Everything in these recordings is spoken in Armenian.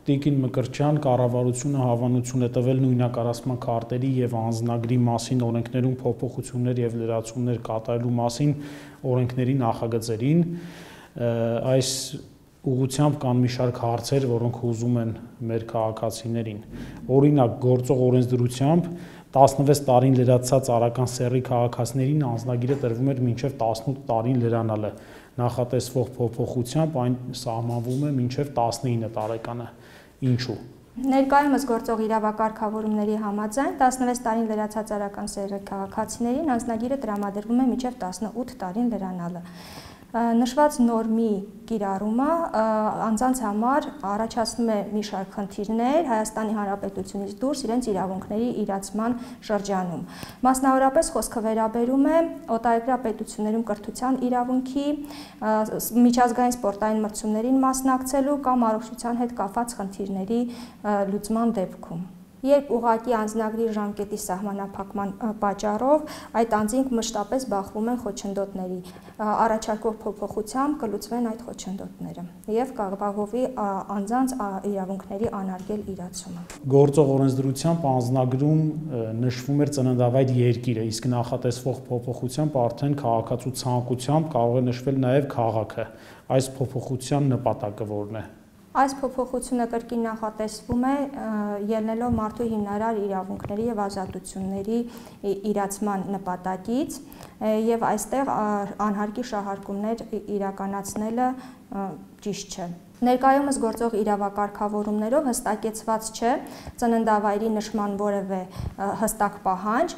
Տիկին Մկրտչյան կառավարությունը հավանություն է տվել նույնակառուցման քարտերի եւ անձնագրի մասին օրենքներում փոփոխություններ եւ լրացումներ կատարելու մասին օրենքների նախագծերին, այս ուղղությամբ կան մի շարք հարցեր, որոնք հուզում են մեր քաղաքացիներին։ Օրինակ, գործող օրենսդրությամբ 16 տարին լրացած արական սեռի քաղաքացիներին անձնագիրը տրվում էր մինչև 18 տարին լրանալը։ Նախատեսվող փոփոխությամբ այն սահմանվում է մինչև 19 տարեկանը։ Ինչու՞։ Ներկայումս գործող իրավակարգավորումների համաձայն 16 տարին լրացած արական սեռի քաղաքացիներին անձնագիրը տրամադրվում է մինչև 18 տարին լրանալը։ Նշված նորմի կիրառումը անձանց համար առաջացնում է մի շարք խնդիրներ Հայաստանի Հանրապետությունից դուրս իրենց իրավունքների իրացման շրջանում։ Մասնավորապես խոսքը վերաբերում է օտարերկրյա պետություններում կրթության իրավունքի, միջազգային սպորտային մրցումներին մասնակցելու կամ առողջության հետ կապված խնդիրների լուծման դեպքում։ Երբ ուղղակի անձնագրի ժամկետի սահմանափակման պատճառով այդ անձինք մշտապես բախվում են խոչընդոտների, առաջարկող փոփոխությամբ կլուծվեն այդ խոչընդոտները եւ կապահովի անձանց իրավունքների անարգել իրացումը։ Գործող օրենսդրությամբ անձնագրում նշվում էր ծննդավայր երկիրը, իսկ նախատեսվող փոփոխությամբ արդեն քաղաքացու ցանկությամբ կարող է նշվել նաեւ քաղաքը։ Այս փոփոխության նպատակը ո՞րն է։ Այս փոփոխությունը կրկին նախատեսվում է ելնելով մարդու հիմնարար իրավունքների եւ ազատությունների իրացման նպատակից եւ այստեղ անհարկի շահարկումներ իրականացնելը ճիշտ չէ։ Ներկայումս գործող իրավակարգավորումներով հստակեցված չէ ծննդավայրի նշման որևէ հստակ պահանջ,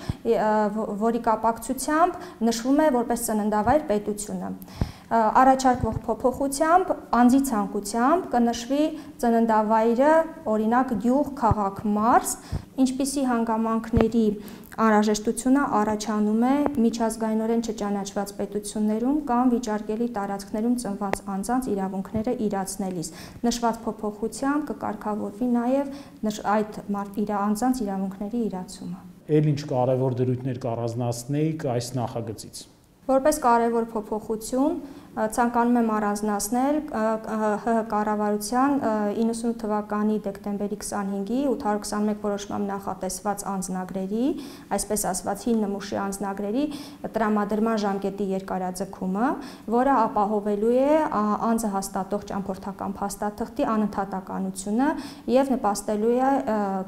որի կապակցությամբ նշվում է որպես ծննդավայր պետությունը։ Առաջարկվող փոփոխությամբ անձի ցանկությամբ կնշվի ծննդավայրը, օրինակ գյուղ, քաղաք, մարզ, ինչպիսի հանգամանքների անհրաժեշտությունը առաջանում է միջազգայինորեն չճանաչված պետություններում կամ վիճարկելի տարածքներում ծնված անձանց իրավունքները իրացնելիս։ Նշված փոփոխությամբ կկարգավորվի նաև այդ անձանց իրավունքների իրացումը։ Էլ ինչ կարևոր դրույթներ կառանձնացնեիք այս նախագծից։ Որպես կարևոր փոփոխություն ցանկանում եմ առանձնացնել ՀՀ կառավարության 98 թվականի դեկտեմբերի 25-ի 821 որոշմամբ նախատեսված անձնագրերի, այսպես ասված հին նմուշի անձնագրերի տրամադրման ժամկետի երկարաձգումը, որը ապահովելու է անձը հաստատող ճամփորդական փաստաթղթի անընդհատականությունը եւ նպաստելու է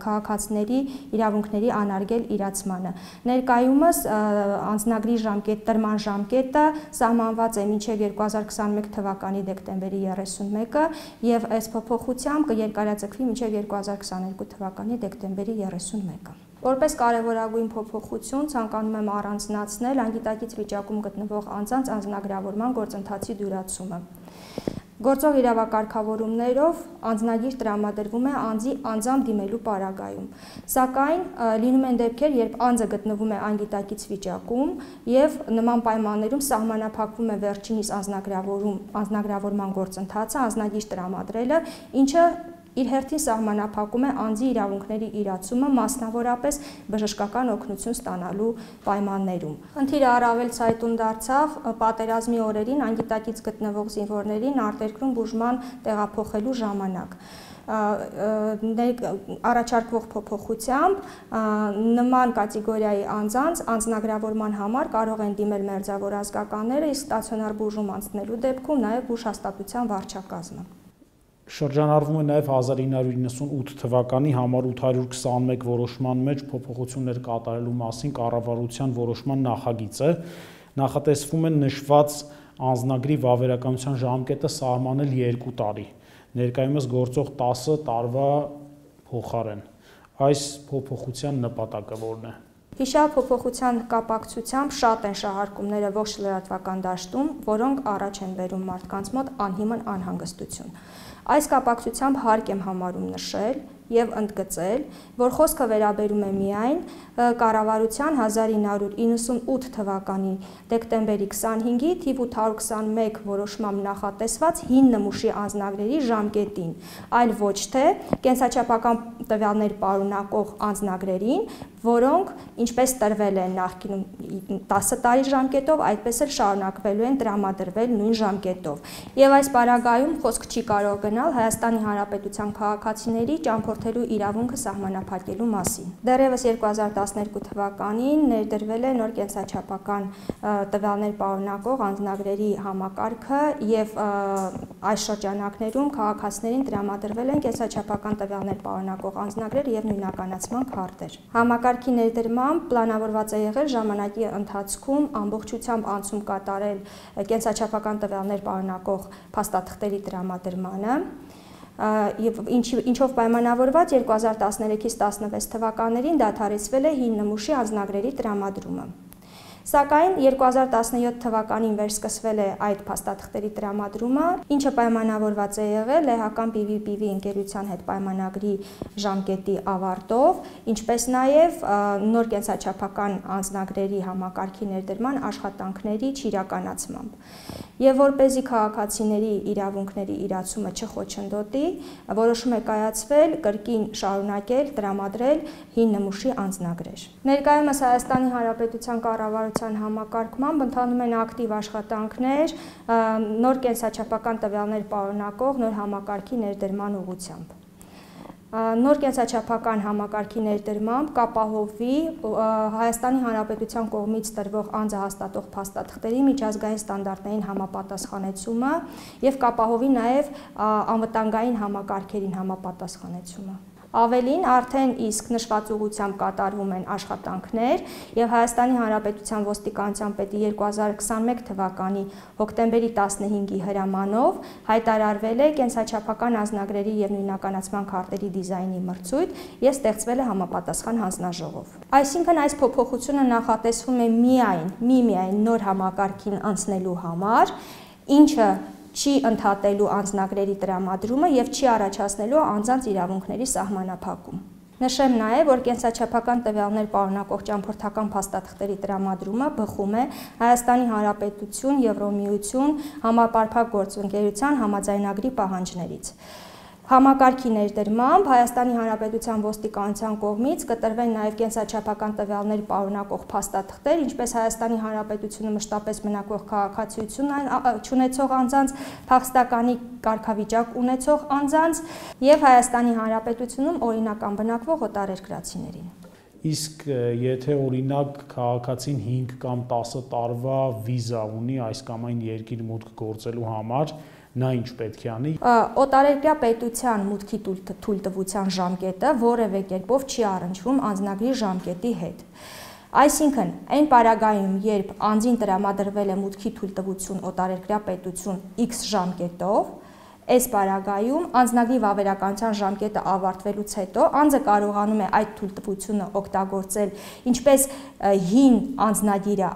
քաղաքացիների իրավունքների անարգել իրացմանը։ Ներկայումս անձնագրի տրման ժամկետը սահմանված է մինչև 2021 թվականի դեկտեմբերի 31-ը եւ այս փոփոխությամբ կերկարաձգվի մինչև 2022 թվականի դեկտեմբերի 31-ը։ Որպես կարևորագույն փոփոխություն ցանկանում եմ առանձնացնել անգիտակից վիճակում գտնվող անձանց անձնագրավորման գործընթացի դյուրացումը։ Գործող իրավակարգավորումներով անձնագիր տրամադրվում է անձի անձամբ դիմելու պարագայում, սակայն լինում են դեպքեր, երբ անձը գտնվում է անգիտակից վիճակում եւ նման պայմաններում սահմանափակվում է վերջինիս անձնագրավորման գործընթացը, անձնագիր տրամադրելը, ինչը իր հերթին սահմանափակում է անձի իրավունքների իրացումը, մասնավորապես բժշկական օգնություն ստանալու պայմաններում։ Խնդիրը առավել ցայտուն դարձավ պատերազմի օրերին անգիտակից գտնվող զինվորներին արտերկրում բուժման տեղափոխելու ժամանակ։ Առաջարկվող փոփոխությամբ նման կատեգորիայի անձանց անձնագրավորման համար կարող են դիմել մերձավոր ազգականները, իսկ ստացիոնար բուժում անցնելու դեպքում նաև բուժհաստատության վարչակազմը։ Շրջանառվում է նաև 1998 թվականի համար 821 որոշման մեջ փոփոխություններ կատարելու մասին կառավարության որոշման նախագիծը, նախատեսվում է նշված անձնագրի վավերականության ժամկետը սահմանել 2 տարի, ներկայումս գործող 10 տարվա փոխարեն։ Այս փոփոխության նպատակը ո՞րն է։ Հիշյալ փոփոխության կապակցությամբ շատ են շահարկումները ողջ լրատվական դաշտում, որոնք առաջ են բերում մարդկանց մոտ անհիմն անհանգստություն։ Այս կապակցությամբ հարկ եմ համարում նշել եւ ընդգծել, որ խոսքը վերաբերում է միայն կառավարության 1998 թվականի դեկտեմբերի 25-ի թիվ 821 որոշմամբ նախատեսված հին նմուշի անձնագրերի ժամկետին, այլ ոչ թե կենսաչափական տվյալներ պարունակող անձնագրերին, որոնք ինչպես տրվել են նախկինում 10 տարի ժամկետով, այդպես էլ շարունակվելու են տրամադրվել նույն ժամկետով։ Եվ այս պարագայում խոսք չի կարող գնալ Հայաստանի Հանրապետության քաղաքացիների ճամփորդելու իրավունքը սահմանափակելու մասին։ Դեռևս 2012 թվականին ներդրվել է նոր կենսաչափական տվյալներ պարունակող անձնագրերի համակարգը եւ այս շրջանակներում քաղաքացիներին տրամադրվել են կենսաչափական տվյալներ պարունակող անձնագրեր եւ նույնականացման քարտեր։ Համակարգի ներդրմամբ պլանավորված է եղել ժամանակի ընթացքում ամբողջությամբ անցում կատարել կենսաչափական տվյալներ պարունակող փաստաթղթերի տրամադրմանը, ինչով պայմանավորված 2013-ից 16 թվականներին դադարեցվել է հին նմուշի անձնագրերի տրամադրումը։ Սակայն 2017 թվականին վերսկսվել է այդ փաստաթղթերի տրամադրումը, ինչը պայմանավորված է եղել լեհական PVPV ընկերության հետ պայմանագրի ժամկետի ավարտով, ինչպես նաև նոր կենսաչափական անձնագրերի համակարգի ներդրման աշխատանքների չիրականացմամբ։ Եվ որպեսզի քաղաքացիների իրավունքների իրացումը չխոչընդոտի, որոշում է կայացվել կրկին շարունակել տրամադրել հին նմուշի անձնագրեր։ Ներկայումս Հայաստանի Հանրապետության կառավարության համակարգմամբ ընթանում են ակտիվ աշխատանքներ նոր կենսաչափական տվյալներ պարունակող նոր համակարգի ներդրման ուղղությամբ։ Նոր կենսաչափական համակարգի ներդրմամբ կապահովվի Հայաստանի Հանրապետության կողմից տրվող անձը հաստատող փաստաթղթերի միջազգային ստանդարտներին համապատասխանեցումը եւ կապահովի նաեւ անվտանգային համակարգերին համապատասխանեցումը։ Ավելին, արդեն իսկ նշված ուղղությամբ կատարվում են աշխատանքներ եւ Հայաստանի Հանրապետության ոստիկանության պետի 2021 թվականի հոկտեմբերի 15-ի հրամանով հայտարարվել է կենսաչափական անձնագրերի եւ նույնականացման քարտերի դիզայնի մրցույթ եւ ստեղծվել է համապատասխան հանձնաժողով։ Այսինքն այս փոփոխությունը նախատեսվում է միայն նոր համակարգին անցնելու համար, ինչը չի ընդհատելու անձնագրերի տրամադրումը եւ չի առաջացնելու անձանց իրավունքների սահմանափակում։ Նշեմ նաեւ, որ կենսաչափական տվյալներ պարունակող ճամփորդական փաստաթղթերի տրամադրումը բխում է Հայաստանի Հանրապետություն Եվրոմիություն համապարփակ գործընկերության համաձայնագրի պահանջներից։ Համակարգի ներդրմամբ Հայաստանի Հանրապետության ոստիկանության կողմից կտրվեն նաև կենսաչափական տվյալներ պարունակող փաստաթղթեր, ինչպես Հայաստանի Հանրապետությունը մշտապես բնակվող քաղաքացիություն ունեցող անձանց, փախստականի կարգավիճակ ունեցող անձանց եւ Հայաստանի Հանրապետությունում օրինական բնակվող օտարերկրացիներին։ Իսկ եթե օրինակ քաղաքացին 5 կամ 10 տարվա վիզա ունի այս կամ այն երկիր մուտք գործելու համար, նա ինչ պետք է անի։ Օտարերկրյա պետության մուտքի թույլտվության ժամկետը որևէ կերպով չի առնչվում անձնագրի ժամկետի հետ։ Այսինքն, այն պարագայում, երբ անձին տրամադրվել է մուտքի թույլտվություն օտարերկրյա պետություն X ժամկետով, այս պարագայում անձնագրի վավերականության ժամկետը ավարտվելուց հետո անձը կարողանում է այդ թույլտվությունը օգտագործել ինչպես հին անձնագիրը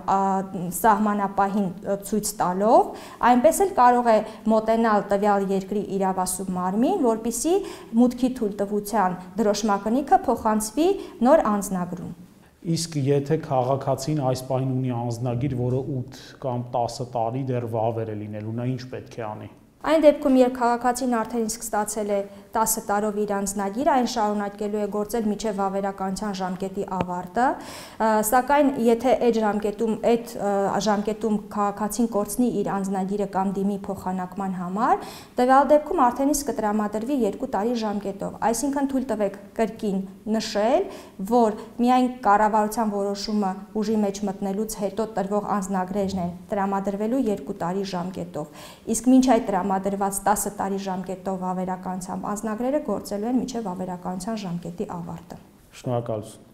սահմանապահին ցույց տալով, այնպես էլ կարող է մոտենալ տվյալ երկրի իրավասու մարմին, որպեսզի մուտքի թույլտվության դրոշմակնիքը փոխանցվի նոր անձնագրում։ Իսկ եթե քաղաքացին այս պահին ունի անձնագիր, որը 8 կամ 10 տարի դեռ վավեր է լինելու, նա ինչ պետք է անի։ Այն դեպքում, երբ քաղաքացին արդեն իսկ ստացել է 10 տարով իր անձնագիրը, այն շարունակելու է գործել մինչև վավերականության ժամկետի ավարտը, սակայն եթե այդ ժամկետում քաղաքացին կորցնի իր անձնագիրը կամ դիմի փոխանակման համար, տվյալ դեպքում արդեն իսկ կտրամադրվի 2 տարի ժամկետով։ Այսինքն թույլ տվեք կրկին նշել, որ միայն կառավարության որոշումը ուժի մեջ մտնելուց հետո տրվող անձնագրերն են տրամադրվելու 2 տարի ժամկետով։ Իսկ մինչ այդ տրամադրված 10 տարի ժամկետով վավերականությամբ անձնագրերը գործելու են մինչև վավերականության ժամկետի ավարտը։ Շնորհակալություն։